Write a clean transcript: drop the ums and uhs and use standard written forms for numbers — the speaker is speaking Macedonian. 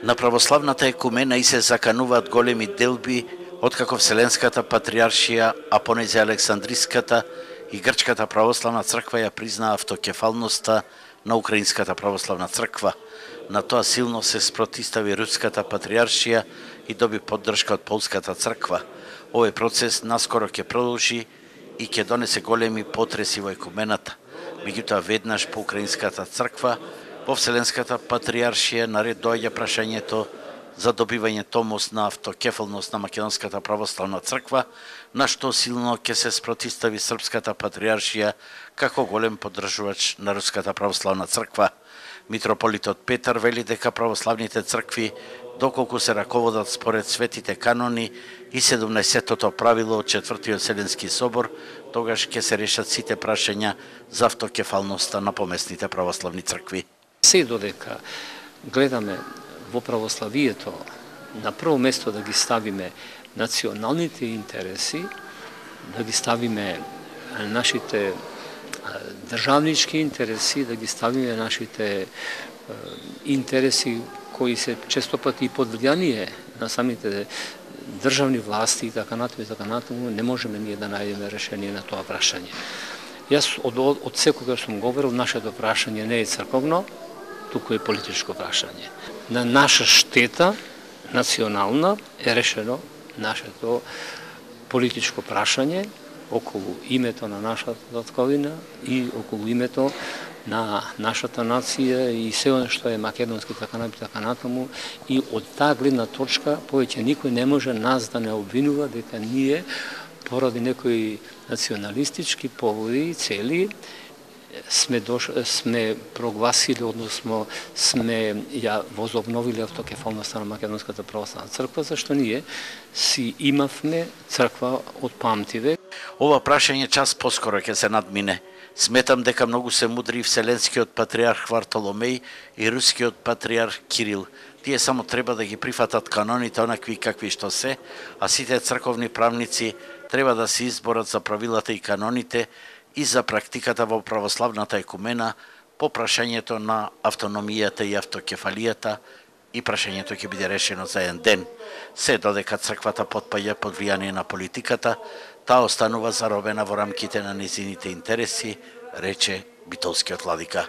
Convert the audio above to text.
На православната екумена и се закануваат големи делби откако Вселенската патриаршија, а понезе Александриската и Грчката православна црква ја признаа автокефалноста на Украинската православна црква. На тоа силно се спротистави Руската патриаршија и доби поддршка од Полската црква. Овој процес наскоро ќе продолжи и ќе донесе големи потреси во екумената. Меѓутоа веднаш по Украинската црква во Вселенската патриаршија наред доаѓа прашањето за добивање томос на автокефалност на Македонската православна црква, на што силно ќе се спротистави Српската патриаршија како голем поддржувач на Руската православна црква. Митрополитот Петар вели дека православните цркви, доколку се раководат според светите канони и 17-тото правило од 4-тиот Вселенски собор, тогаш ќе се решат сите прашања за автокефалноста на помесните православни цркви. Се додека гледаме во православието на прво место да ги ставиме националните интереси, да ги ставиме нашите државнички интереси, да ги ставиме нашите интереси кои се често пати под влијание на самите државни власти и така натаму, не можеме ние да најдеме решение на тоа прашање. Јас од секогаш сум говорил, нашето прашање не е црковно, туку е политичко прашање. На наша штета, национална, е решено нашето политичко прашање околу името на нашата татковина и околу името на нашата нација и се оно што е македонски така натаму, и од таа гледна точка повеќе никој не може нас да не обвинува дека ние поради некои националистички поводи и цели сме прогласили, односно сме ја возобновили автокефалноста на Македонската православна црква, зашто ние си имавме црква од памтивек. Ова прашање час поскоро ќе се надмине. Сметам дека многу се мудри Вселенскиот патриарх Вартоломеј и Рускиот патриарх Кирил. Тие само треба да ги прифатат каноните онакви какви што се, а сите црковни правници треба да се изборат за правилата и каноните и за практиката во православната екумена по прашањето на автономијата и автокефалијата, и прашањето ќе биде решено за еден ден. Се додека црквата потпаѓа под влијание на политиката, таа останува заробена во рамките на незините интереси, рече битолскиот владика.